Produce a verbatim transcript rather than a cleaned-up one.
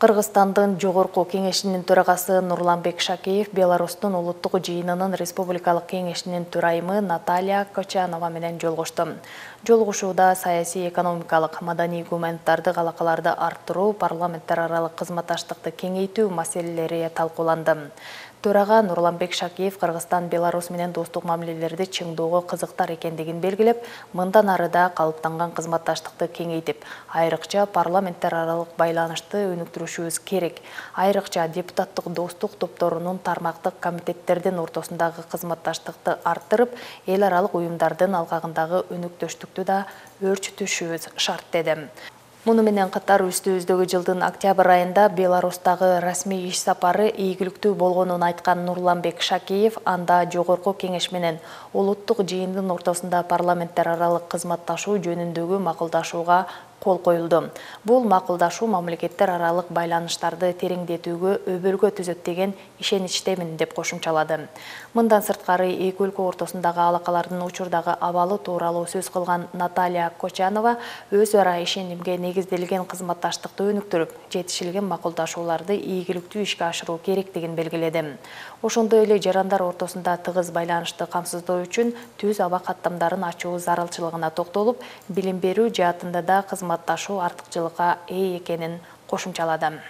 Кыргызстандын Жогорку Кеңешинин төрагасы Нурланбек Шакеев Беларустун улуттук жыйынынын республикалык кеңешинин төрайымы Наталья Кочанова менен жолугушту. Жолугушууда саясий, экономикалык, маданий гуманитардык алакаларды арттыруу, парламенттер аралык кызматташтыкты кеңейтүү маселелери талкууланды. Төрага Нурланбек Шакеев Кыргызстан Беларусь менен достук мамилелерди чыңдоого кызыктар экендигин белгилеп, мындан ары да калыптанган кызматташтыкты кеңейтип, айрыкча парламенттер аралык байланышты өнүктүрүшүбүз керек. Айрыкча депутаттык достук топторунун тармактык комитеттердин ортосундагы кызматташтыкты арттырып, эл аралык уюмдардын алкагындагы өнүктүштүктү да өөрчүтүшүбүз шарт деди. Муну менен катар үстүбүздөгү жылдын октябрь айында Беларустагы расмий иш сапары ийгиликтүү болгонун айткан Нурланбек Шакеев анда Жогорку Кеңеш менен улуттук жыйындын ортосунда парламенттер аралык кызматташуу жөнүндөгү макулдашууга кол коюлду. Бул макулдашуу мамлекеттер аралык байланыштарды тереңдетүүгө өбөлгө түзөт деген ишеничтемин деп кошумчалады. Мындан сырткары эки өлкө ортосундагы алакалардын учурдагы абалы тууралуу сөз кылган Наталья Кочанова өз ара ишенимге негизделген кызматташтыкты өнүктүрүп, жетишилген макулдашууларды ийгиликтүү ишке ашыруу керектигин белгиледи. Ошондой эле жарандар ортосунда тыгыз байланышты камсыздоо үчүн түз аба каттамдарын ачуу зарылчылыгына токтолуп, билим берүү жаатында да кызматташуу артыкчылыкка ээ экенин кошумчалады.